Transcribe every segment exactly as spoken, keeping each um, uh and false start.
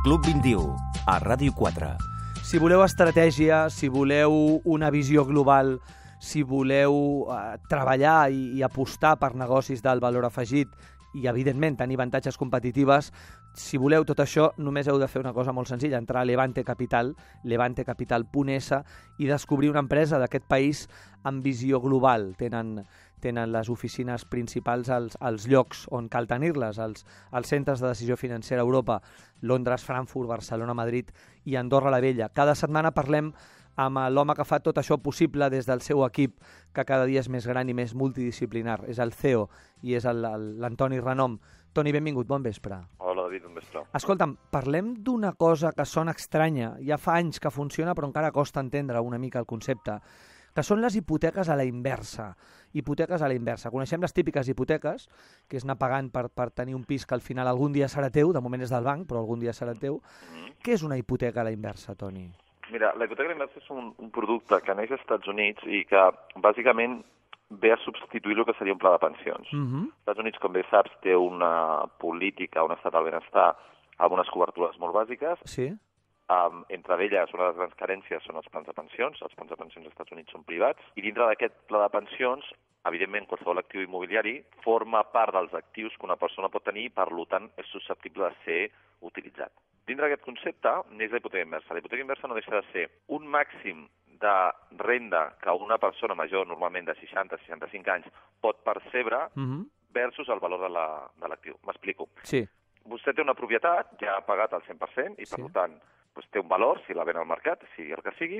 Club vint-i-u, a Ràdio quatre. Si voleu estratègia, si voleu una visió global, si voleu eh, treballar i, i apostar per negocis d'alt valor afegit i, evidentment, tenir avantatges competitives, si voleu tot això, només heu de fer una cosa molt senzilla, entrar a Levante Capital, levante capital punt es, i descobrir una empresa d'aquest país amb visió global. Tenen, tenen les oficines principals als, als llocs on cal tenir-les, als, als centres de decisió financera a Europa, Londres, Frankfurt, Barcelona, Madrid i Andorra la Vella. Cada setmana parlem amb l'home que fa tot això possible des del seu equip, que cada dia és més gran i més multidisciplinar. És el C E O i és l'Antoni Renom. Toni, benvingut, bon vespre. Hola, David, bon vespre. Escolta'm, parlem d'una cosa que sona estranya. Ja fa anys que funciona, però encara costa entendre una mica el concepte, que són les hipoteques a la inversa. Hipoteques a la inversa. Coneixem les típiques hipoteques, que és anar pagant per, per tenir un pis que al final algun dia serà teu, de moment és del banc, però algun dia serà teu. Mm-hmm. Què és una hipoteca a la inversa, Toni? Mira, la hipoteca a la inversa és un, un producte que neix als Estats Units i que, bàsicament, ve a substituir el que seria un pla de pensions. Uh-huh. Els Estats Units, com bé saps, té una política, un estat del benestar amb unes cobertures molt bàsiques. Sí. Um, entre elles, una de les grans carències són els plans de pensions. Els plans de pensions als Estats Units són privats. I dintre d'aquest pla de pensions, evidentment, qualsevol actiu immobiliari forma part dels actius que una persona pot tenir i, per tant, és susceptible de ser utilitzat. Dintre d'aquest concepte neix la hipoteca inversa. La hipoteca inversa no deixa de ser un màxim de renda que una persona major, normalment de seixanta a seixanta-cinc anys, pot percebre uh-huh. versus el valor de l'actiu. La, M'explico. Sí. Vostè té una propietat, ja ha pagat el cent per cent, i per sí. tant doncs, té un valor, si la ven al mercat, sigui el que sigui,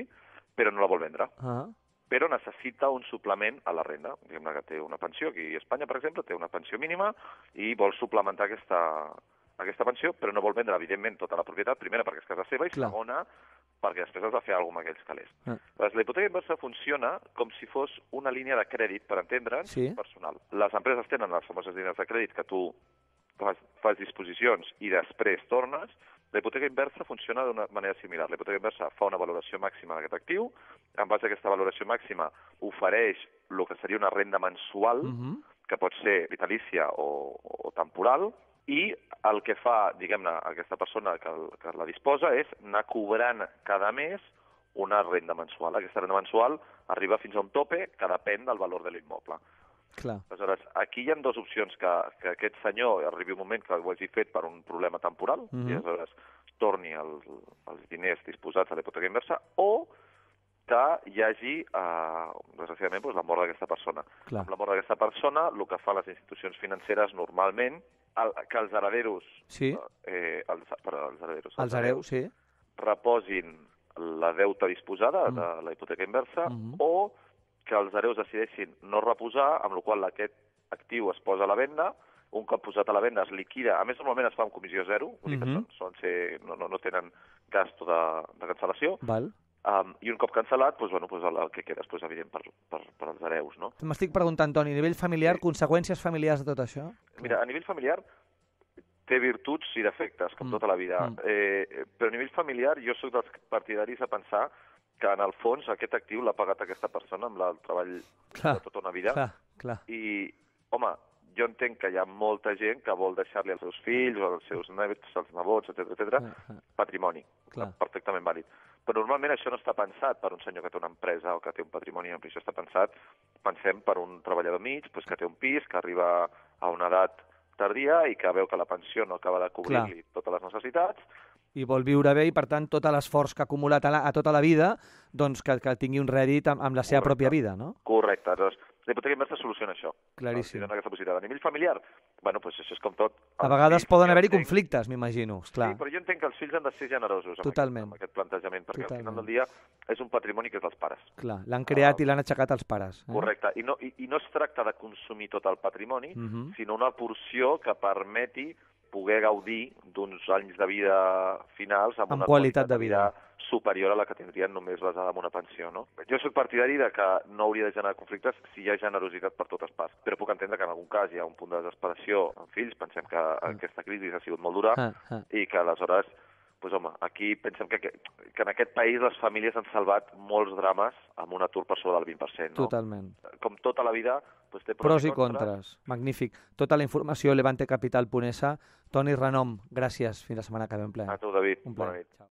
però no la vol vendre. Uh-huh. Però necessita un suplement a la renda. Diguem-ne que té una pensió, aquí a Espanya, per exemple, té una pensió mínima i vol suplementar aquesta, aquesta pensió, però no vol vendre, evidentment, tota la propietat, primera, perquè és casa seva, i Clar. segona, perquè després has de fer alguna cosa amb aquells calés. Ah. La hipoteca inversa funciona com si fos una línia de crèdit, per entendre'ns, sí. personal. Les empreses tenen les famoses línies de crèdit que tu fas, fas disposicions i després tornes. La hipoteca inversa funciona d'una manera similar. La hipoteca inversa fa una valoració màxima d'aquest actiu, en base a aquesta valoració màxima ofereix el que seria una renda mensual, uh-huh. que pot ser vitalícia o, o temporal, i el que fa, diguem-ne, aquesta persona que, que la disposa és anar cobrant cada mes una renda mensual. Aquesta renda mensual arriba fins a un tope que depèn del valor de l'immoble. Clar. Aleshores, aquí hi ha dues opcions, que, que aquest senyor arribi un moment que ho hagi fet per un problema temporal, mm-hmm. i aleshores torni el, els diners disposats a la hipoteca inversa, o que hi hagi, eh, desgraciadament, doncs, la mort d'aquesta persona. Clar. Amb la mort d'aquesta persona, el que fan les institucions financeres normalment, el, que els herederos, sí. eh, els, perdó, els herederos, els hereus, sí. reposin la deuta disposada mm. de la hipoteca inversa, mm-hmm. o que els hereus decideixin no reposar, amb la qual cosa aquest actiu es posa a la venda, un cop posat a la venda es liquida, a més normalment es fa amb comissió zero, vull dir mm-hmm. que són, són ser, no, no, no tenen gasto de, de cancel·lació, Val. Um, i un cop cancel·lat, doncs, bueno, doncs el, el que queda és doncs, evident per, per, per als hereus. No? M'estic preguntant, Toni, a nivell familiar, sí. conseqüències familiars de tot això? Mira, a nivell familiar té virtuts i defectes, com mm. tota la vida, mm. eh, però a nivell familiar jo soc dels partidaris a pensar que en el fons aquest actiu l'ha pagat aquesta persona amb el treball clar, de tota una vida. Clar, clar. I, home, jo entenc que hi ha molta gent que vol deixar-li als seus fills o als seus nets, als nebots, etcètera, etcètera, ah, ah. patrimoni. Clar. Perfectament vàlid. Però normalment això no està pensat per un senyor que té una empresa o que té un patrimoni ampli. Això està pensat, pensem, per un treballador mig doncs, que té un pis, que arriba a una edat tardia i que veu que la pensió no acaba de cobrir-li totes les necessitats. I vol viure bé i, per tant, tot l'esforç que ha acumulat a, la, a tota la vida, doncs que, que tingui un rèdit amb, amb la seva Correcte. pròpia vida, no? Correcte. Doncs, la hipoteca inversa soluciona això. Claríssim. No? Aquesta possibilitat. A nivell familiar, bueno, doncs això és com tot. A vegades poden haver-hi conflictes, m'imagino. Sí, però jo entenc que els fills han de ser generosos amb, Totalment. Aquest, amb aquest plantejament, perquè Totalment. al final del dia és un patrimoni que és dels pares. Clar, l'han creat uh, i l'han aixecat els pares. Eh? Correcte. I no, i, I no es tracta de consumir tot el patrimoni, uh-huh. sinó una porció que permeti poder gaudir d'uns anys de vida finals amb, amb una qualitat, qualitat de vida. vida superior a la que tindrien només basada en una pensió. No? Jo soc partidari de que no hauria de generar conflictes si hi ha generositat per totes parts, però puc entendre que en algun cas hi ha un punt de desesperació amb fills, pensem que ah. aquesta crisi ha sigut molt dura ah, ah. i que aleshores pues, home, aquí pensem que, que, que en aquest país les famílies han salvat molts drames amb un atur per sobre del vint per cent. No? Totalment. Com tota la vida, pues, té pros, pros i contres. Magnífic. Tota la informació a levante capital punt es. Toni Renom, gràcies. Fins la setmana que ve, un plaer. A tu, David. Un plaer. Bona nit. Ciao.